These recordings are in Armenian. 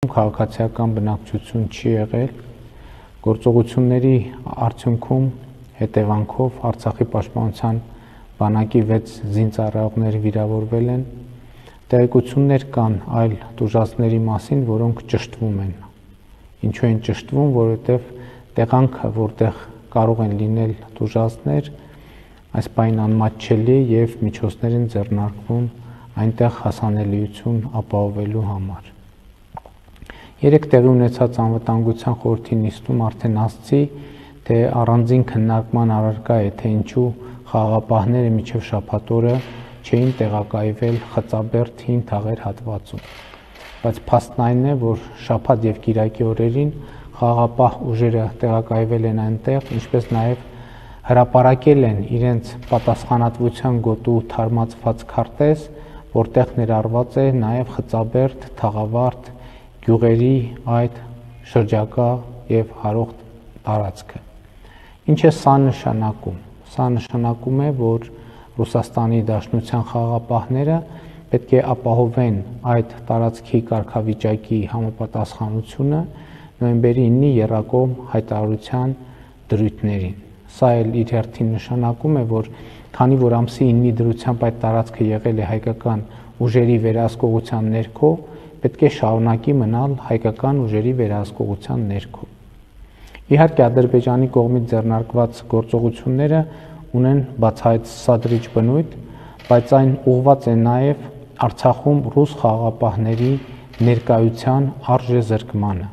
Քաղաքացիական բնակչություն չի եղել, գործողությունների արդյունքում հետևանքով Արցախի պաշտպանության բանակի 6 զինծառայողներ վիրավորվել են, տեղեկություններ կան այլ տուժածների մասին, որոնք ճշտվում են։ Ինչու են ճշտվում, որովհետև տեղանքը, որտեղ կարող են լինել տուժածներ, այս պայն անմատչելի եւ միջոցներ են ձեռնարկվում այնտեղ հասանելիություն ապահովելու համար։ Երեք տեղի ունեցած անվտանգության խորհրդի նիստում արդեն ասացի, թե առանձին քննարկման առարկա է, թե ինչու խաղաղապահները մինչև շաբաթ օրը չէին տեղակայվել Խծաբերդ հին թաղեր հատվածում։ Բայց փաստն այն է, որ շաբաթ եւ կիրակի օրերին խաղաղապահ ուժերը տեղակայվել են այնտեղ, ինչպես նաեւ հրապարակել են իրենց պատասխանատվության գոտու թարմացված քարտեզ, որտեղ ներառված է նաեւ Խծաբերդ, Թաղավարտ գյուղերի այդ շրջակա եւ հարող տարածքը։ Ինչ է սա նշանակում։ Սա նշանակում է, որ Ռուսաստանի Դաշնության խաղաղապահները պետք է ապահովեն այդ տարածքի կարգավիճակի համապատասխանությունը նոյեմբերի 9-ի եռակողմ հայտարարության դրույթներին։ Սա էլ իր հերթին նշանակում է, որ քանի որ ամսի 9-ի դրությամբ այդ տարածքը եղել է հայկական ուժերի վերահսկողության ներքո, պետք է շարունակի մնալ հայկական ուժերի վերահսկողության ներքո։ Իհարկե Ադրբեջանի կողմից ձեռնարկված գործողությունները ունեն բացահայտ սադրիչ բնույթ, բայց այն ուղղված է նաև Արցախում ռուս խաղաղապահների ներկայության արժեզրկմանը։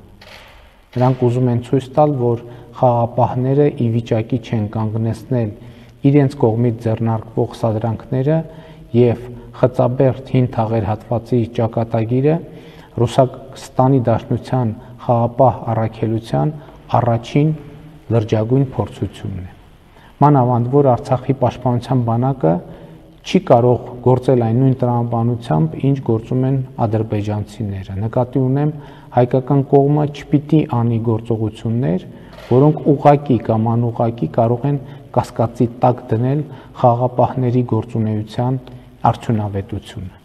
Նրանք ուզում են ցույց տալ, որ խաղաղապահները ի վիճակի չեն կանգնեցնել իրենց կողմից ձեռնարկվող սադրանքները եւ Խծաբերդ հին թաղեր հատվածի ճակատագիրը Ռուսաստանի Դաշնության խաղաղապահ առաքելության առաջին լրջագույն փորձությունն է։ Մանավանդ որ Արցախի պաշտպանության բանակը չի կարող գործել այն նույն տրամաբանությամբ, ինչ գործում են ադրբեջանցիները։ Նկատի ունեմ, հայկական կողմը չպիտի անի գործողություններ, որոնք ուղղակի կամ անուղղակի կարող են կասկածի տակ դնել խաղաղապահների գործունեության արդյունավետությունը։